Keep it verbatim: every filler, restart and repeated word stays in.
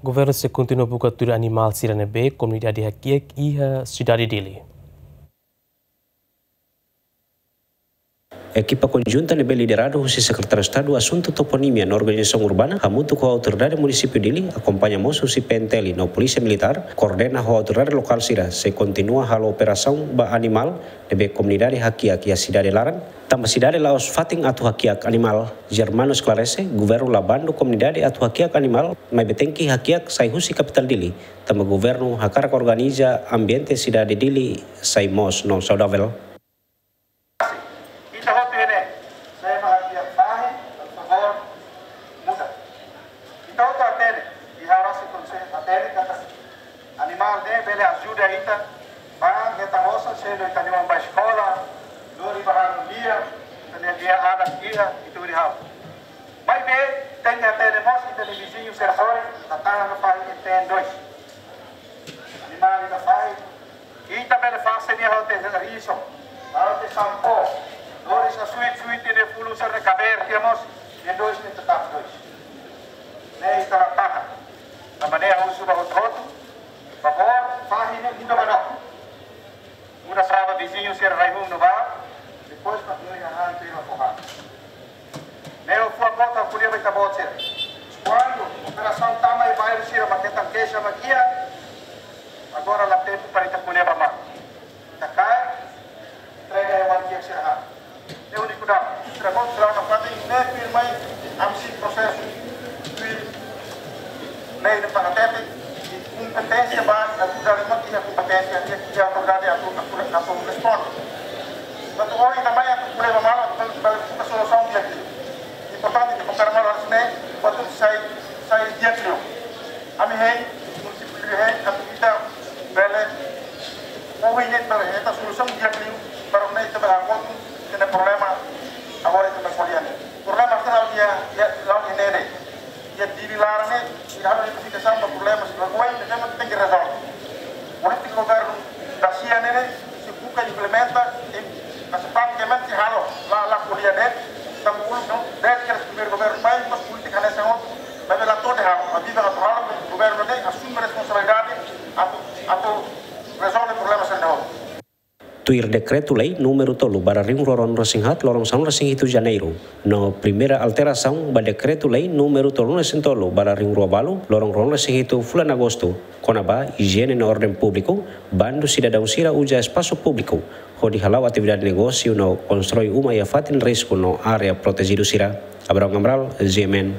Governu sei kontinua buka tuir animál sira ne'ebé komunidade hakiak iha sidade Dili. Ekipa konjunta ne'ebé lideradu husi Sekretáriu Estadu Asuntu Toponímia no Organizasaun Urbana, hamutuk ho Autoridade Munisípiu Dili, akompaña mós husi P N T L no Polísia Militár, koordena ho autoridade lokál sira, sei kontinua halo operasaun ba animál ne'ebé komunidade hakiak iha sidade laran, tanba sidade la'ós fatin atu hakiak animál. Germano esklarese, governu la bandu komunidade atu hakiak animál, maibé tenke hakiak sai husi kapitál Dili, tanba governu hakarak organiza ambiente sidade Dili sai moos no saudavel. Ita hotu iha ne'e, se ema hakiak fahi, por favor, muda. Ita hotu hatene, i ha'u rasik konsei hatene katak animál ne'e bele ajuda ita, ba hetan osan, se ita-nia oan bá eskola, lori bá halo lia, ita-nia lia anak iha, ita hodi halo. Maibé, tenke hatene mós, ita-nia viziñu sira sorin, la tahan no fahi, ita-nia dois. Animál ida fahi, ita bele fase nia hotu riso, hotu sampo, lori sa suit-suit nia fulun sira kabeer, nia mós, nia dois nia tetap dois. Ne'e ita la tahan. Tanba ne'e ha'u husu ba hotu-hotu, favór, fahi ne'e muda ba no. Muda sira ba viziñu sira rai-hun no bá, depois ba nia hahán sira foha. Ne'e fó a bota ko'alia ba ita-boot sira. Kuandu operasaun tama iha bairru sira mak hetan keixa mak iha, agora la tempu para ita ko'alia ba malu. Ita kaer, entrega ha'u-nia kiak sira ha'u. Ne'e úniku dam. Sira bot sira na fati, ne'e tuirmai, ami sei prosesu, tuir lei ne'ebé para tete, i kompeténsia ba, atu dari mati iha kompeténsia, iha, iha autoridade atu, atu, atu responde. Atu ohin ita mai atu problema malu, atu bele buka solusaun di'ak liu. Importante ita kompara malu harus ne'e, atu sai, sai di'ak liu. Ami hein, munisípiu hein, atu ita bele, ohin ne'e bele hetan solusaun di'ak liu, para ne'e ita bele hakotu, ita-nia problema, agora ita bele ko'alia ne'e. Problema sira iha, iha, la'o iha ne'e de'it. Iha Dili laran ne'e, iha halo identifikasaun ba problema sira oin, ne'e mak tenke rezolve. Polítika governu dasia ne'e, sei buka implementa, i, mas pratikamente halo, la, la ko'alia de'it, tanba uluk ne'e, desde primeiru governu mai, mas polítika hanesan ohin, maibé la to'o de'it halo, maibé la to'o halo, governu ne'e asume responsabilidade, atu, atu rezolve problema sira ne'e. Tuir Dekretu-Lei númeru tolu barra rihun rua ruanulu-resin-haat, loron sanulu-resin-hitu Janeiru, no primeira alterasaun ba Dekretu-Lei númeru tolunulu-resin-tolu barra rihun rua ualu, loron ruanulu-resin-hitu fulan Agostu, kona-ba ijiene no orden públiku, bandu sidadaun sira uza espasu públiku hodi hala'o atividade negósiu no konstrui uma iha fatin risku no área protejidu sira. Abraham Amaral, G M N.